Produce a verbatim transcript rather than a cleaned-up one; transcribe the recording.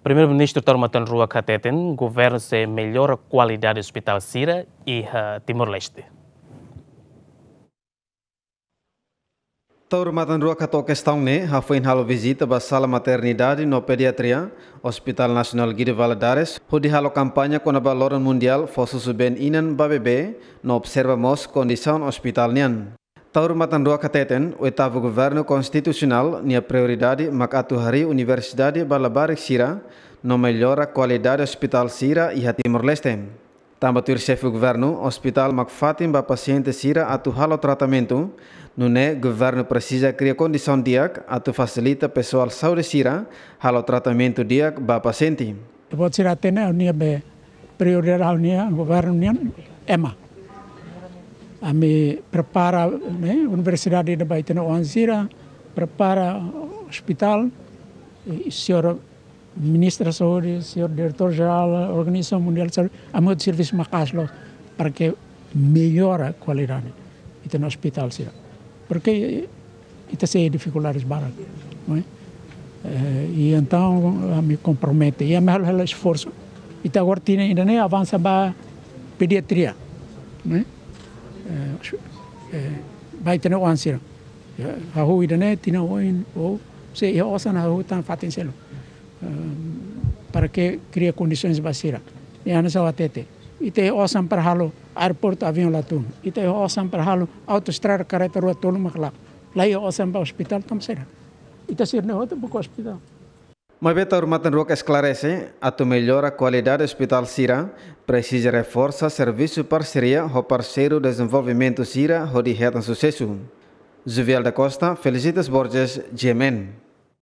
Primeiru-Ministru Taur Matan Ruak hateten governu sei mellora kualidade ospitál sira iha Timor-Leste. Taur Matan Ruak hato'o kestaun ne'e hafoin halo vizita ba sala maternidade no pediatria Hospital Nasionál Guido Valadares, hodi halo kampaña kona-ba loron mundiál fó susubeen inan ba bebé no observa mós kondisaun ospitál nian. Taur Matan Ruak hateten, oitavu governu konstitusionál nia prioridade mak atu harii universidade ba labarik sira no mellora kualidade ospitál sira iha Timor-Leste. Tanba tuir xefe governu, ospitál mak fatin ba pasiente sira atu halo tratamentu, nune'e governu presiza kria kondisaun di'ak atu fasilita pesoál saúde sira halo tratamentu di'ak ba pasiente. Buat sira hatene, ha'u-nia be prioridade, ha'u-nia governu nian ema. Ami prepara, ne'e, universidade ida ba ita-nia oan sira, prepara ospitál, i señór Ministru Saúde, señór Diretór Jerál Organizasaun Mundiál Saúde, ami halo servisu maka'as loos para que mellora kualidade ita-nia ospitál sira. Porque ita sei difikuldades barak, não é? Eh, i entaun, ami kompromete, i ami halo, halo esforsu. Ita agora tinan ida-ne'e avansa ba pediatria, não é? Eh, eh, ba ita-nia oan sira. Ya, hahú ida-ne'e tinan oin, ou se iha osan hahú tan fatin seluk. Eh, para que kria kondisoens ba sira. I hanesan ha'u hatete, ita iha osan para halo aeroportu aviaun la tun. Ita iha osan para halo autoestrada karreta rua tolu mak la. La iha osan ba ospitál, entaun sira. Ita sira-ne'e hotu buka ospitál. Maibé Taur Matan Ruak esklarese, atu mellora kualidade ospitál sira, presiza reforsa servisu parseria ho parseiru dezenvolvimentu sira hodi hetan susesu. Juvial da Costa, Felicitas Borges, G M N.